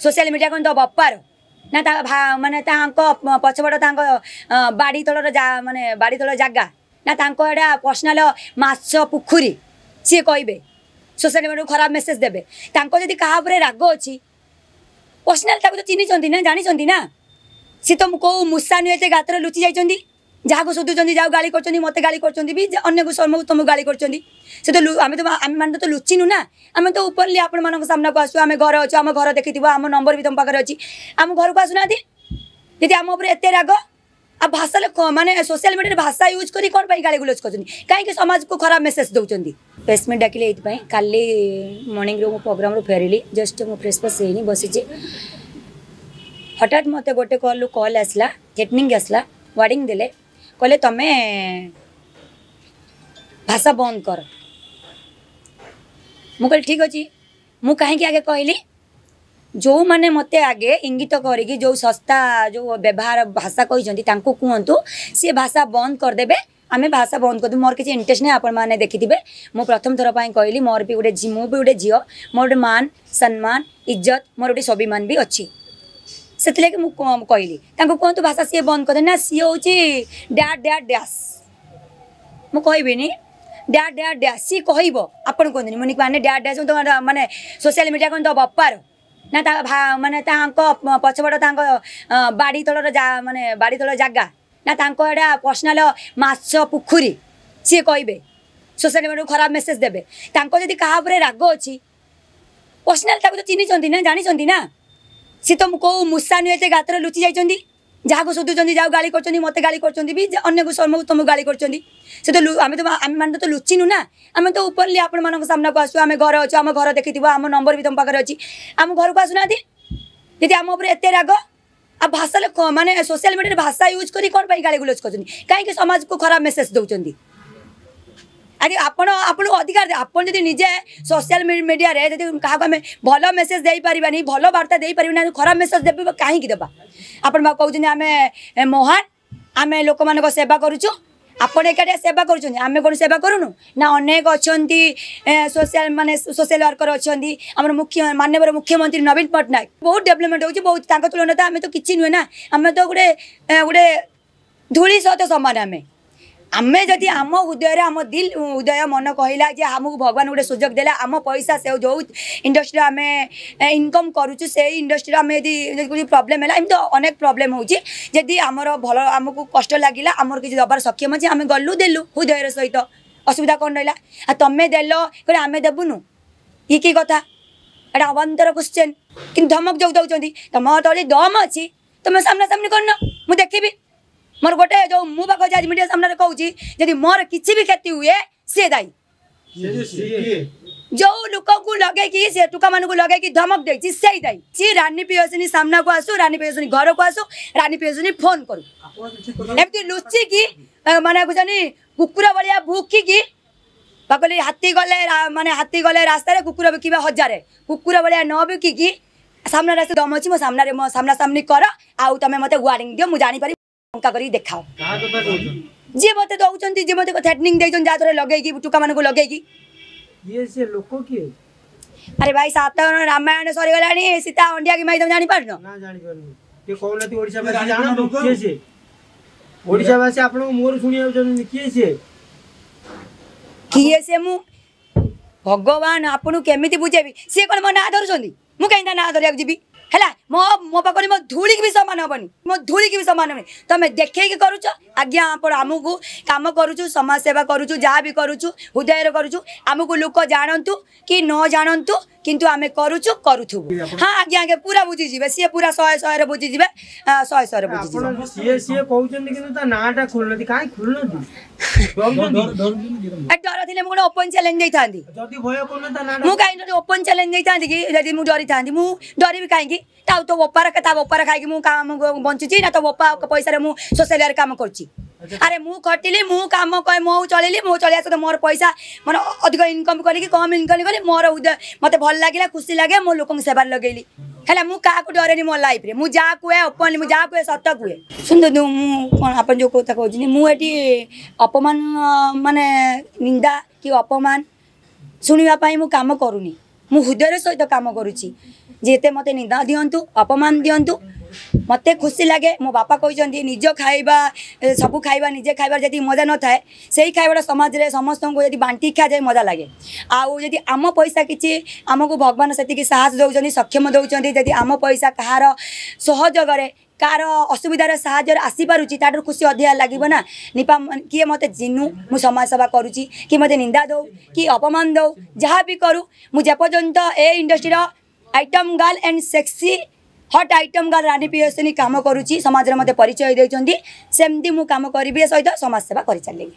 Social media କ'ଣ ତ ବପାର ନା ତା ମାନେ ତାଙ୍କ ପଛପଟ ତାଙ୍କ ବାଡ଼ି ତଳର, ମାନେ ବାଡ଼ି ତଳ ଜାଗା ନା ତାଙ୍କ ଏଇଟା ପର୍ସନାଲ ମାଛ ପୋଖରୀ। ସିଏ କହିବେ, ସୋସିଆଲ ମିଡ଼ିଆକୁ ଖରାପ ମେସେଜ ଦେବେ। ତାଙ୍କ ଯଦି କାହା ଉପରେ ରାଗ ଅଛି ପର୍ସନାଲ, ତାକୁ ତ ଚିହ୍ନିଛନ୍ତି ନା, ଜାଣିଛନ୍ତି ନା। ସିଏ ତ କେଉଁ ମୂଷା ନୁହେଁ ଏତେ ଗାତରେ ଲୁଚି ଯାଇଛନ୍ତି। ଯାହାକୁ ଶୋଧୁଛନ୍ତି, ଯାହାକୁ ଗାଳି କରୁଛନ୍ତି, ମୋତେ ଗାଳି କରୁଛନ୍ତି ବି, ଅନ୍ୟକୁ ତମକୁ ଗାଳି କରୁଛନ୍ତି, ସେ ତ ଆମେ ତ ଆମେମାନେ ତ ଲୁଚିନୁ ନା। ଆମେ ତ ଓପନଲି ଆପଣମାନଙ୍କ ସାମ୍ନାକୁ ଆସୁ। ଆମେ ଘରେ ଅଛୁ, ଆମ ଘର ଦେଖିଥିବ, ଆମ ନମ୍ବର ବି ତମ ପାଖରେ ଅଛି। ଆମ ଘରକୁ ଆସୁନାହାନ୍ତି ଯଦି ଆମ ଉପରେ ଏତେ ରାଗ। ଆଉ ଭାଷା ମାନେ ସୋସିଆଲ ମିଡ଼ିଆରେ ଭାଷା ୟୁଜ୍ କରି କ'ଣ ପାଇଁ ଗାଳି ଗୁଲଜ କରୁଛନ୍ତି? କାହିଁକି ସମାଜକୁ ଖରାପ ମେସେଜ ଦେଉଛନ୍ତି? ପ୍ରେସ୍ ମିଟ୍ ଡାକିଲେ ଏଇଥିପାଇଁ, କାଲି ମର୍ଣ୍ଣିଂରୁ ମୁଁ ପ୍ରୋଗ୍ରାମରୁ ଫେରିଲି, ଜଷ୍ଟ ମୁଁ ଫ୍ରେଶ୍ ଫ୍ରେଶ୍ ହେଇନି, ବସିଛି। ହଠାତ୍ ମୋତେ ଗୋଟେ କଲ୍ରୁ କଲ୍ ଆସିଲା, ଥ୍ରେଟନିଂ ଆସିଲା, ୱାର୍ଣ୍ଣିଂ ଦେଲେ। କହିଲେ ତମେ ଭାଷା ବନ୍ଦ କର। ମୁଁ କହିଲି ଠିକ୍ ଅଛି। ମୁଁ କାହିଁକି ଆଗେ କହିଲି, ଯେଉଁମାନେ ମୋତେ ଆଗେ ଇଙ୍ଗିତ କରିକି ଯେଉଁ ଶସ୍ତା ଯେଉଁ ବ୍ୟବହାର ଭାଷା କହିଛନ୍ତି, ତାଙ୍କୁ କୁହନ୍ତୁ ସିଏ ଭାଷା ବନ୍ଦ କରିଦେବେ। ଆମେ ଭାଷା ବନ୍ଦ କରିଦେବୁ, ମୋର କିଛି ଇଣ୍ଟରେଷ୍ଟ ନାହିଁ। ଆପଣମାନେ ଦେଖିଥିବେ, ମୁଁ ପ୍ରଥମ ଥର ପାଇଁ କହିଲି, ମୋର ବି ଗୋଟେ, ମୁଁ ବି ଗୋଟେ ଝିଅ, ମୋର ଗୋଟେ ମାନ ସମ୍ମାନ, ଇଜ୍ଜତ, ମୋର ଗୋଟେ ସ୍ୱାଭିମାନ ବି ଅଛି। ସେଥିଲାଗି ମୁଁ କହିଲି ତାଙ୍କୁ କୁହନ୍ତୁ ଭାଷା ସିଏ ବନ୍ଦ କରିଦେବେ। ନା, ସିଏ ହେଉଛି ଡ୍ୟା ଡ୍ୟା ଡ୍ୟାସ୍, ମୁଁ କହିବିନି, ଡ୍ୟା ଡ୍ୟା ଡ୍ୟାସ୍ ସିଏ କହିବ। ଆପଣ କୁହନ୍ତୁନି ମୁନି ମାନେ ଡ୍ୟା ଡ୍ୟାସ୍। ମାନେ ସୋସିଆଲ ମିଡ଼ିଆ କ'ଣ ତ ବପାର ନା ତା ମାନେ ତାଙ୍କ ପଛପଟ ତାଙ୍କ ବାଡ଼ି ତଳର, ମାନେ ବାଡ଼ି ତଳ ଜାଗା ନା ତାଙ୍କ ଏଇଟା ପର୍ସନାଲ ମାଛ ପୋଖରୀ। ସିଏ କହିବେ, ସୋସିଆଲ ମିଡ଼ିଆକୁ ଖରାପ ମେସେଜ ଦେବେ। ତାଙ୍କ ଯଦି କାହା ଉପରେ ରାଗ ଅଛି ପର୍ସନାଲ, ତାକୁ ତ ଚିହ୍ନିଛନ୍ତି ନା, ଜାଣିଛନ୍ତି ନା। ସିଏ ତ କେଉଁ ମୂଷା ନୁହେଁ ଏତେ ଗାତରେ ଲୁଚି ଯାଇଛନ୍ତି। ଯାହାକୁ ଶୋଧୁଛନ୍ତି, ଯାହାକୁ ଗାଳି କରୁଛନ୍ତି, ମୋତେ ଗାଳି କରୁଛନ୍ତି ବି, ଅନ୍ୟକୁ ତମକୁ ଗାଳି କରୁଛନ୍ତି, ସେ ତ ଆମେ ତ ଆମେମାନେ ତ ଲୁଚିନୁ ନା। ଆମେ ତ ଓପନଲି ଆପଣମାନଙ୍କ ସାମ୍ନାକୁ ଆସୁ। ଆମେ ଘରେ ଅଛୁ, ଆମ ଘର ଦେଖିଥିବ, ଆମ ନମ୍ବର ବି ତମ ପାଖରେ ଅଛି। ଆମ ଘରକୁ ଆସୁନାହାନ୍ତି ଯଦି ଆମ ଉପରେ ଏତେ ରାଗ। ଆଉ ଭାଷା ମାନେ ସୋସିଆଲ ମିଡ଼ିଆରେ ଭାଷା ୟୁଜ୍ କରି କ'ଣ ପାଇଁ ଗାଳି ଗୁଲଜ କରୁଛନ୍ତି? କାହିଁକି ସମାଜକୁ ଖରାପ ମେସେଜ ଦେଉଛନ୍ତି? ଆଜି ଆପଣ ଆପଣଙ୍କୁ ଅଧିକାର, ଆପଣ ଯଦି ନିଜେ ସୋସିଆଲ ମିଡ଼ିଆରେ ଯଦି କାହାକୁ ଆମେ ଭଲ ମେସେଜ ଦେଇପାରିବାନି, ଭଲ ବାର୍ତ୍ତା ଦେଇପାରିବାନି, ଖରାପ ମେସେଜ ଦେବେ କାହିଁକି ଦେବା? ଆପଣ ବା କହୁଛନ୍ତି ଆମେ ମହାନ, ଆମେ ଲୋକମାନଙ୍କ ସେବା କରୁଛୁ। ଆପଣ ଏକାଠିଆ ସେବା କରୁଛନ୍ତି, ଆମେ କ'ଣ ସେବା କରୁନୁ ନା? ଅନେକ ଅଛନ୍ତି ସୋସିଆଲ, ମାନେ ସୋସିଆଲ ୱାର୍କର ଅଛନ୍ତି। ଆମର ମୁଖ୍ୟ ମାନ୍ୟବର ମୁଖ୍ୟମନ୍ତ୍ରୀ ନବୀନ ପଟ୍ଟନାୟକ ବହୁତ ଡେଭଲପମେଣ୍ଟ ହେଉଛି ବହୁତ। ତାଙ୍କ ତୁଳନାରେ ତ ଆମେ ତ କିଛି ନୁହେଁ ନା। ଆମେ ତ ଗୋଟେ ଗୋଟେ ଧୂଳି ସହିତ ସମାନ ଆମେ। ଆମେ ଯଦି ଆମ ହୃଦୟରେ, ଆମ ଦିଲ ହୃଦୟ ମନ କହିଲା ଯେ ଆମକୁ ଭଗବାନ ଗୋଟେ ସୁଯୋଗ ଦେଲା, ଆମ ପଇସା ସେ ଯେଉଁ ଇଣ୍ଡଷ୍ଟ୍ରିରେ ଆମେ ଇନକମ୍ କରୁଛୁ, ସେଇ ଇଣ୍ଡଷ୍ଟ୍ରିରେ ଆମେ ଯଦି କିଛି ପ୍ରୋବ୍ଲେମ୍ ହେଲା, ଏମିତି ଅନେକ ପ୍ରୋବ୍ଲେମ୍ ହେଉଛି, ଯଦି ଆମର ଭଲ ଆମକୁ କଷ୍ଟ ଲାଗିଲା, ଆମର କିଛି ଦେବାର ସକ୍ଷମ ଅଛି, ଆମେ ଗଲୁ ଦେଲୁ ହୃଦୟର ସହିତ, ଅସୁବିଧା କ'ଣ ରହିଲା? ଆଉ ତମେ ଦେଲ କହିଲେ ଆମେ ଦେବୁନୁ, ଇଏ କି କଥା? ଏଇଟା ଅବାନ୍ତର କ୍ୱେଶ୍ଚେନ୍। କିନ୍ତୁ ଧମକ ଯେଉଁ ଦେଉଛନ୍ତି, ତମ ତଳେ ଦମ ଅଛି, ତମେ ସାମ୍ନାସାମ୍ନି କରୁନ, ମୁଁ ଦେଖିବି। ମୋର ଗୋଟେ ଯେଉଁ ମୁଁ ବା କହୁଛି, ଆଜି ମିଡ଼ିଆ ସାମ୍ନାରେ କହୁଛି, ଯଦି ମୋର କିଛି ବି କ୍ଷତି ହୁଏ ସିଏ ଦାୟୀ। ଯୋଉ ଲୋକକୁ ଲଗେଇକି, ସେ ଟୁକାମାନଙ୍କୁ ଲଗେଇକି ଧମକ ଦେଇଛି, ସେଇ ଦାୟୀ। ସିଏ ରାନୀ ପ୍ରିୟଦର୍ଶିନୀ ସାମ୍ନାକୁ ଆସୁ, ରାନୀ ପ୍ରିୟଦର୍ଶିନୀ ଘରକୁ ଆସୁ, ରାନୀ ପ୍ରିୟଦର୍ଶିନୀ ଫୋନ କରୁ। ଏମିତି ଲୁଚିକି ମାନେ କହୁଛନ୍ତି କୁକୁର ଭଳିଆ ଭୁକିକି ବା କହିଲି, ହାତୀ ଗଲେ, ମାନେ ହାତୀ ଗଲେ ରାସ୍ତାରେ କୁକୁର ବିକିବେ ହଜାରେ। କୁକୁର ଭଳିଆ ନ ବିକିକି ସାମ୍ନାରେ ଆସି, ଦମ ଅଛି ମୋ ସାମ୍ନାରେ, ମୋ ସାମ୍ନାସାମ୍ନି କର। ଆଉ ତମେ ମୋତେ ୱାର୍ଣ୍ଣିଂ ଦିଅ, ମୁଁ ଜାଣିପାରିବି, ଟଙ୍କା କରିକି ଦେଖାଅ। ଯିଏ ମୋତେ ଦଉଛନ୍ତି, ଯିଏ ମୋତେ ଥ୍ରେଟନିଂ ଦେଇଛନ୍ତି, ଯାହା ଦ୍ୱାରା ଲଗେଇକି ଟୁକାମାନଙ୍କୁ ଲଗେଇକି। ସେ ଲୋକ କିଏ? ଆରେ ଭାଇ, ସାତ ରାମାୟଣ ସରିଗଲାଣି, ସୀତା ଅଣ୍ଡିଆ କି ମାଇ, ତମେ ଜାଣିପାରୁନ? ଓଡ଼ିଶାବାସୀ ଆପଣଙ୍କ ମୁହଁରୁ ଶୁଣିବାକୁ ଚାହୁଁଛନ୍ତି, କିଏ ସିଏ? କିଏ ସେ? ମୁଁ ଭଗବାନ ଆପଣଙ୍କୁ କେମିତି ବୁଝେଇବି? ସିଏ କ'ଣ ମୋ ନାଁ ଧରୁଛନ୍ତି? ମୁଁ କାହିଁକି ତା ନାଁ ଧରିବାକୁ ଯିବି? ହେଲା, ମୋ ପାଖରେ ମୋ ଧୂଳିକି ବି ସମାନ ହେବନି, ମୋ ଧୂଳିକି ବି ସମାନ ହେବନି। ତମେ ଦେଖେଇକି କରୁଛ ଆଜ୍ଞା। ଆପଣ ଆମକୁ କାମ କରୁଛୁ, ସମାଜ ସେବା କରୁଛୁ, ଯାହା ବି କରୁଛୁ ହୃଦୟରେ କରୁଛୁ। ଆମକୁ ଲୋକ ଜାଣନ୍ତୁ କି ନ ଜାଣନ୍ତୁ, କିନ୍ତୁ ଆମେ କରୁଛୁ, କରୁଥିବୁ। ହଁ ଆଜ୍ଞା, ଆଜ୍ଞା, ପୁରା ବୁଝିଯିବେ ସିଏ, ପୁରା ଶହେ ଶହେରେ ବୁଝିଯିବେ, ଶହେ ଶହେରେ ବୁଝିଯିବେ। ସିଏ କହୁଛନ୍ତି କିନ୍ତୁ ତା ନାଁଟା ଖୋଲୁନାହାନ୍ତି। କାହିଁ ଖୋଲୁନାହାନ୍ତି? ଡର ଥିଲେ ମୁଁ ଗୋଟେ ଓପନ ଚ୍ୟାଲେଞ୍ଜ ଦେଇଥାନ୍ତି? ମୁଁ କାହିଁକି ଓପନ ଚ୍ୟାଲେଞ୍ଜ ଦେଇଥାନ୍ତି କି ଯଦି ମୁଁ ଡରିଥାନ୍ତି? ମୁଁ ଡରିବି କାହିଁକି? ତା ତୋ ବୋପାର, ତା ବୋପାର ଖାଇକି ମୁଁ କାମ ବଞ୍ଚୁଛି ନା ତୋ ବୋପା ପଇସାରେ ମୁଁ ସୋସିଆଲ କାମ କରୁଛି? ଆରେ ମୁଁ ଖଟିଲି, ମୁଁ କାମ, ମୁଁ ଚଳିଲି, ମୁଁ ଚଳିବା ସହିତ ମୋର ପଇସା ମାନେ ଅଧିକ ଇନକମ୍ କରିକି, କମ୍ ଇନକମ୍ କରି, ମୋର ମୋତେ ଭଲ ଲାଗିଲା, ଖୁସି ଲାଗେ, ମୁଁ ଲୋକଙ୍କୁ ସେବାରେ ଲଗେଇଲି। ହେଲା, ମୁଁ କାହାକୁ ଡରେନି ମୋ ଲାଇଫରେ। ମୁଁ ଯାହା କୁହେ ଓପନଲି, ମୁଁ ଯାହା କୁହେ ସତ କୁହେ। ଶୁଣନ୍ତୁ, ମୁଁ କ'ଣ ଆପଣ ଯେଉଁ କଥା କହୁଛନ୍ତି, ମୁଁ ଏଠି ଅପମାନ ମାନେ ନିନ୍ଦା କି ଅପମାନ ଶୁଣିବା ପାଇଁ ମୁଁ କାମ କରୁନି। ମୁଁ ହୃଦୟର ସହିତ କାମ କରୁଛି। ଯେତେ ମୋତେ ନିନ୍ଦା ଦିଅନ୍ତୁ, ଅପମାନ ଦିଅନ୍ତୁ, ମୋତେ ଖୁସି ଲାଗେ। ମୋ ବାପା କହିଛନ୍ତି, ନିଜ ଖାଇବା ସବୁ ଖାଇବା ନିଜେ ଖାଇବାର ଯେତିକି ମଜା ନଥାଏ, ସେଇ ଖାଇବାଟା ସମାଜରେ ସମସ୍ତଙ୍କୁ ଯଦି ବାଣ୍ଟି ଖିଆଯାଏ ମଜା ଲାଗେ। ଆଉ ଯଦି ଆମ ପଇସା କିଛି ଆମକୁ ଭଗବାନ ସେତିକି ସାହସ ଦେଉଛନ୍ତି, ସକ୍ଷମ ଦେଉଛନ୍ତି, ଯଦି ଆମ ପଇସା କାହାର ସହଯୋଗରେ, କାହାର ଅସୁବିଧାର ସାହାଯ୍ୟରେ ଆସିପାରୁଛି, ତାଠାରୁ ଖୁସି ଅଧିକା ଲାଗିବ ନା। ନିପା କିଏ ମୋତେ ଚିହ୍ନୁ, ମୁଁ ସମାଜ ସେବା କରୁଛି, କି ମୋତେ ନିନ୍ଦା ଦେଉ କି ଅପମାନ ଦେଉ, ଯାହା ବି କରୁ, ମୁଁ ଯେପର୍ଯ୍ୟନ୍ତ ଏ ଇଣ୍ଡଷ୍ଟ୍ରିର item girl and sexy hot item girl Rani Priyadarshini କାମ କରୁଛି, ସମାଜରେ ମୋତେ ପରିଚୟ ଦେଉଛନ୍ତି, ସେମିତି ମୁଁ କାମ କରିବି, ସହିତ ସମାଜ ସେବା କରିଚାଲିବି।